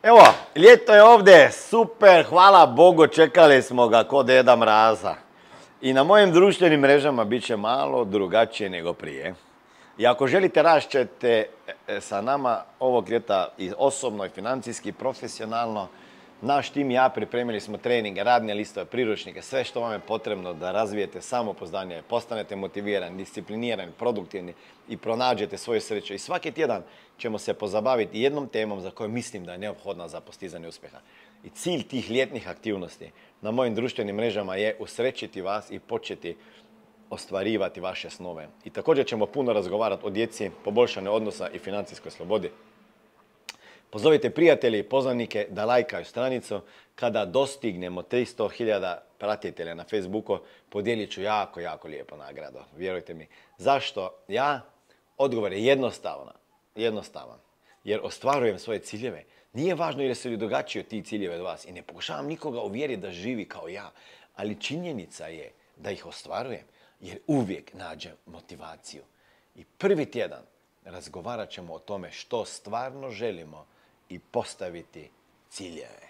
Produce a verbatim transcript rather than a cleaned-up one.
Evo, ljeto je ovdje, super, hvala Bogu, čekali smo ga kod Deda Mraza. I na mojim društvenim mrežama bit će malo drugačije nego prije. I ako želite rašćete sa nama ovog ljeta i osobno, i financijski, i profesionalno, naš tim i ja pripremili smo treninge, radne listove, priručnike, sve što vam je potrebno da razvijete samopouzdanje, postanete motivirani, disciplinirani, produktivni i pronađete svoju sreću. I svaki tjedan ćemo se pozabaviti jednom temom za koju mislim da je neophodna za postizanje uspjeha. I cilj tih ljetnih aktivnosti na mojim društvenim mrežama je usrećiti vas i početi ostvarivati vaše snove. I također ćemo puno razgovarati o djeci, poboljšanju odnosa i financijskoj slobodi. Pozovite prijatelje i poznanike da lajkaju stranicu. Kada dostignemo tristo hiljada pratitelja na Facebooku, podijelit ću jako, jako lijepo nagradu. Vjerujte mi. Zašto? Ja? Odgovor je jednostavan. Jednostavan. Jer ostvarujem svoje ciljeve. Nije važno jer su li drugačiji od tih ciljeve od vas. I ne pokušavam nikoga uvjeriti da živi kao ja. Ali činjenica je da ih ostvarujem. Jer uvijek nađem motivaciju. I prvi tjedan razgovarat ćemo o tome što stvarno želimo i postaviti ciljeve.